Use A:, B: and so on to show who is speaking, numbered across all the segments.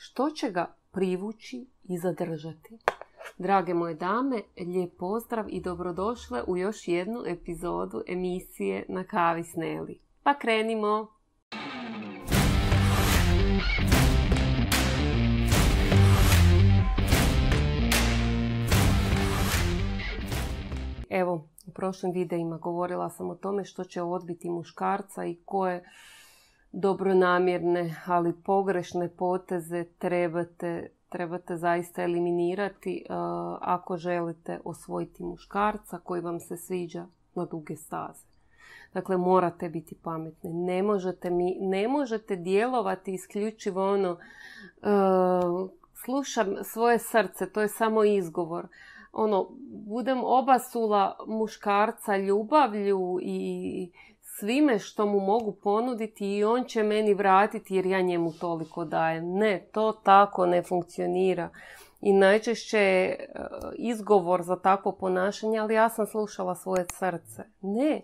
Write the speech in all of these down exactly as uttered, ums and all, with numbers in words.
A: što će ga privući i zadržati. Drage moje dame, lijep pozdrav i dobrodošle u još jednu epizodu emisije Na kavi s Neli. Pa krenimo! Evo, u prošlim videima govorila sam o tome što će odbiti muškarca i koje dobronamjerne, ali pogrešne poteze trebate, trebate zaista eliminirati uh, ako želite osvojiti muškarca koji vam se sviđa na duge staze. Dakle, morate biti pametni. Ne možete, mi, ne možete djelovati isključivo ono uh, slušam svoje srce, to je samo izgovor. Ono, budem obasula muškarca ljubavlju i svime što mu mogu ponuditi i on će meni vratiti jer ja njemu toliko dajem. Ne, to tako ne funkcionira. I najčešće je izgovor za takvo ponašanje, ali ja sam slušala svoje srce. Ne,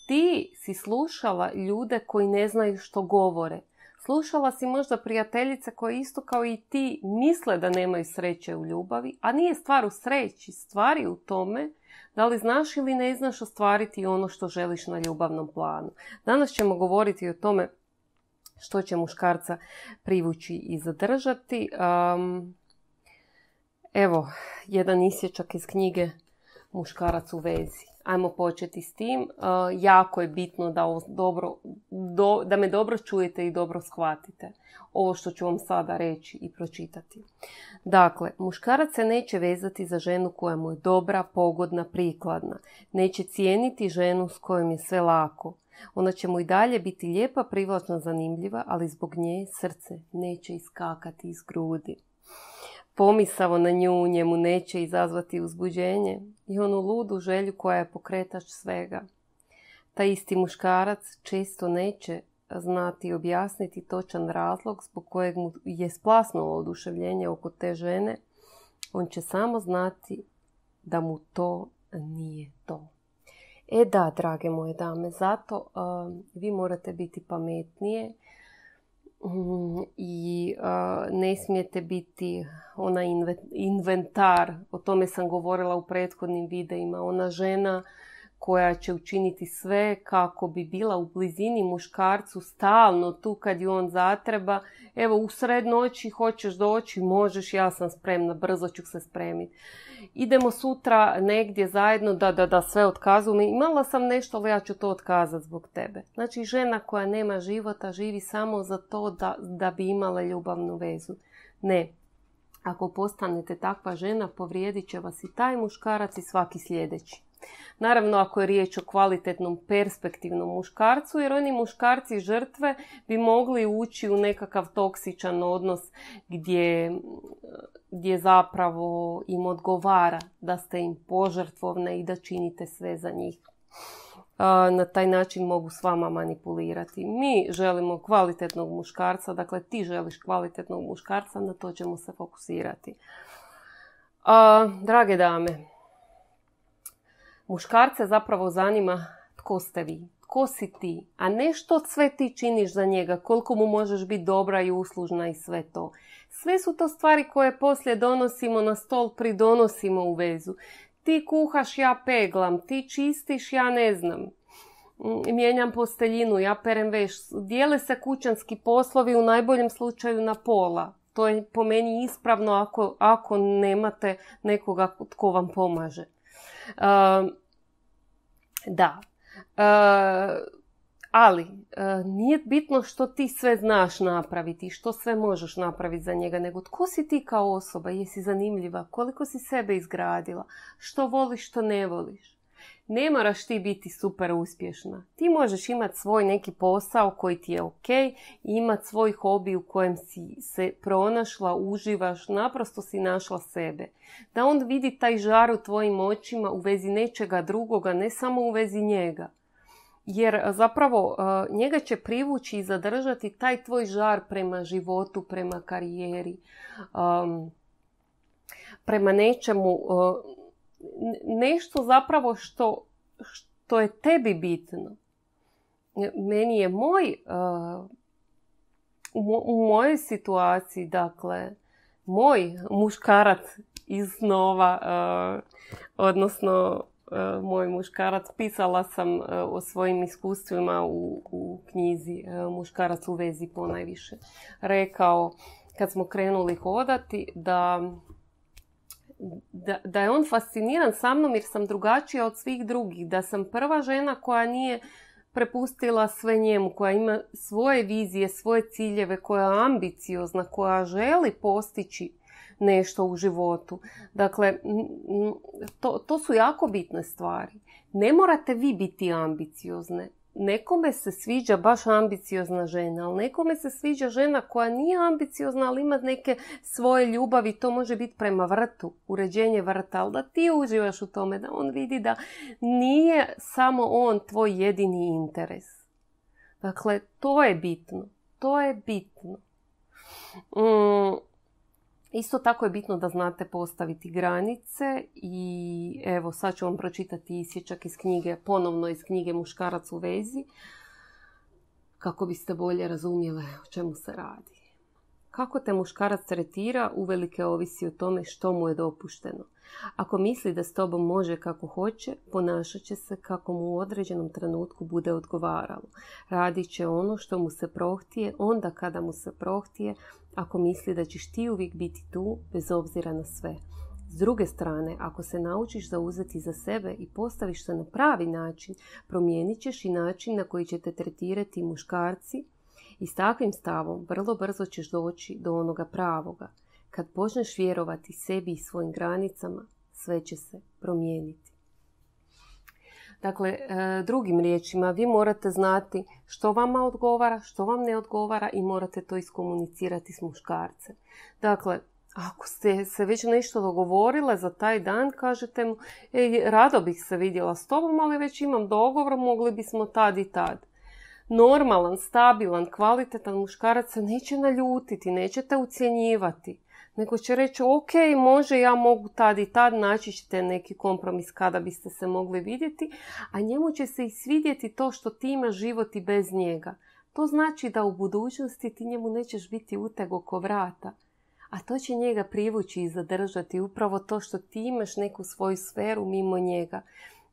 A: ti si slušala ljude koji ne znaju što govore. Slušala si možda prijateljice koje isto kao i ti misle da nemaju sreće u ljubavi, a nije stvar u sreći, stvar je u tome da li znaš ili ne znaš ostvariti ono što želiš na ljubavnom planu. Danas ćemo govoriti o tome što će muškarca privući i zadržati. Um, evo, jedan isječak iz knjige Muškarac u vezi. Ajmo početi s tim. Uh, jako je bitno da, dobro, do, da me dobro čujete i dobro shvatite ovo što ću vam sada reći i pročitati. Dakle, muškarac se neće vezati za ženu koja mu je dobra, pogodna, prikladna. Neće cijeniti ženu s kojom je sve lako. Ona će mu i dalje biti lijepa, privlačna, zanimljiva, ali zbog nje srce neće iskakati iz grudi. Pomisao na nju njemu neće izazvati uzbuđenje i onu ludu želju koja je pokretač svega. Taj isti muškarac često neće znati objasniti točan razlog zbog kojeg mu je splasnulo oduševljenje oko te žene. On će samo znati da mu to nije to. E da, drage moje dame, zato uh, vi morate biti pametnije. Mm, i uh, ne smijete biti ona inventar, o tome sam govorila u prethodnim videima, ona žena koja će učiniti sve kako bi bila u blizini muškarcu stalno tu kad ju on zatreba. Evo, u sred noći hoćeš doći, možeš, ja sam spremna, brzo ću se spremiti. Idemo sutra negdje zajedno, da, da, da, sve otkazujem. Imala sam nešto, ali ja ću to otkazati zbog tebe. Znači, žena koja nema života živi samo za to da, da bi imala ljubavnu vezu. Ne. Ako postanete takva žena, povrijedit će vas i taj muškarac i svaki sljedeći. Naravno, ako je riječ o kvalitetnom, perspektivnom muškarcu, jer oni muškarci žrtve bi mogli ući u nekakav toksičan odnos gdje, gdje zapravo im odgovara da ste im požrtvovne i da činite sve za njih. Na taj način mogu s vama manipulirati. Mi želimo kvalitetnog muškarca, dakle ti želiš kvalitetnog muškarca, na to ćemo se fokusirati. A, drage dame, muškarce zapravo zanima tko ste vi, tko si ti, a ne što sve ti činiš za njega, koliko mu možeš biti dobra i uslužna i sve to. Sve su to stvari koje poslije donosimo na stol, pridonosimo u vezu. Ti kuhaš, ja peglam, ti čistiš, ja ne znam, mijenjam posteljinu, ja perem veš. Dijele se kućanski poslovi u najboljem slučaju na pola. To je po meni ispravno ako, ako nemate nekoga tko vam pomaže. Uh, da, uh, ali uh, nije bitno što ti sve znaš napraviti i što sve možeš napraviti za njega, nego tko si ti kao osoba, jesi zanimljiva, koliko si sebe izgradila, što voliš, što ne voliš. Ne moraš ti biti super uspješna. Ti možeš imati svoj neki posao koji ti je ok i imati svoj hobi u kojem si se pronašla, uživaš, naprosto si našla sebe. Da on vidi taj žar u tvojim očima u vezi nečega drugoga, ne samo u vezi njega. Jer zapravo njega će privući i zadržati taj tvoj žar prema životu, prema karijeri, prema nečemu, nešto zapravo što, što je tebi bitno. Meni je moj uh, u, mo- u mojoj situaciji, dakle, moj muškarac iz snova, uh, odnosno uh, moj muškarac, pisala sam uh, o svojim iskustvima u, u knjizi uh, Muškarac u vezi ponajviše. Rekao, kad smo krenuli hodati, da, da, da je on fasciniran sa mnom jer sam drugačija od svih drugih, da sam prva žena koja nije prepustila sve njemu, koja ima svoje vizije, svoje ciljeve, koja je ambiciozna, koja želi postići nešto u životu. Dakle, to, to su jako bitne stvari. Ne morate vi biti ambiciozne. Nekome se sviđa baš ambiciozna žena, ali nekome se sviđa žena koja nije ambiciozna, ali ima neke svoje ljubavi. To može biti prema vrtu, uređenje vrta, ali da ti uživaš u tome, da on vidi da nije samo on tvoj jedini interes. Dakle, to je bitno. To je bitno. Mm. Isto tako je bitno da znate postaviti granice i evo sad ću vam pročitati isječak iz knjige, ponovno iz knjige Muškarac u vezi, kako biste bolje razumjele o čemu se radi. Kako te muškarac tretira uvelike ovisi o tome što mu je dopušteno. Ako misli da s tobom može kako hoće, ponašat će se kako mu u određenom trenutku bude odgovaralo. Radit će ono što mu se prohtije, onda kada mu se prohtije, ako misli da ćeš ti uvijek biti tu, bez obzira na sve. S druge strane, ako se naučiš zauzeti za sebe i postaviš se na pravi način, promijenit ćeš i način na koji će te tretirati muškarci i s takvim stavom vrlo brzo ćeš doći do onoga pravoga. Kad počneš vjerovati sebi i svojim granicama, sve će se promijeniti. Dakle, drugim riječima, vi morate znati što vama odgovara, što vam ne odgovara i morate to iskomunicirati s muškarcem. Dakle, ako ste se već nešto dogovorile za taj dan, kažete mu, ej, rado bih se vidjela s tobom, ali već imam dogovor, mogli bismo tad i tad. Normalan, stabilan, kvalitetan muškarac se neće naljutiti, nećete ucjenjivati. Nego će reći, ok, može, ja mogu tad i tad, naći ćete neki kompromis kada biste se mogli vidjeti, a njemu će se i svidjeti to što ti imaš život i bez njega. To znači da u budućnosti ti njemu nećeš biti uteg oko vrata, a to će njega privući i zadržati, upravo to što ti imaš neku svoju sferu mimo njega.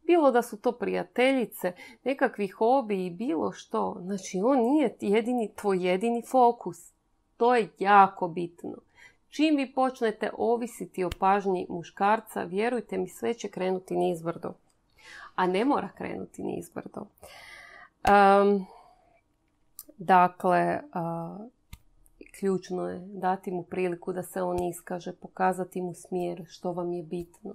A: Bilo da su to prijateljice, nekakvi hobi i bilo što. Znači, on nije jedini, tvoj jedini fokus. To je jako bitno. Čim vi počnete ovisiti o pažnji muškarca, vjerujte mi, sve će krenuti nizbrdo. A ne mora krenuti nizbrdo. Um, dakle, uh, ključno je dati mu priliku da se on iskaže, pokazati mu smjer što vam je bitno.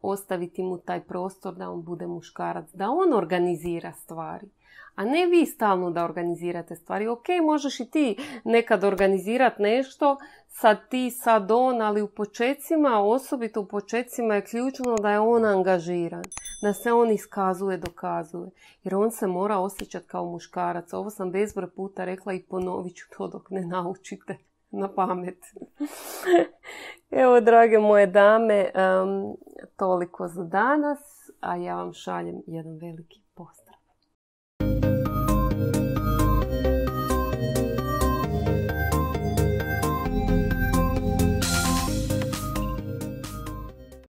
A: Ostaviti mu taj prostor da on bude muškarac, da on organizira stvari. A ne vi stalno da organizirate stvari. Ok, možeš i ti nekad organizirati nešto, sad ti, sad on, ali u počecima, osobito u počecima je ključno da je on angažiran. Da se on iskazuje, dokazuje. Jer on se mora osjećati kao muškarac. Ovo sam bezbroj puta rekla i ponovit ću to dok ne naučite na pamet. Evo, drage moje dame, um, toliko za danas, a ja vam šaljem jedan veliki pozdrav.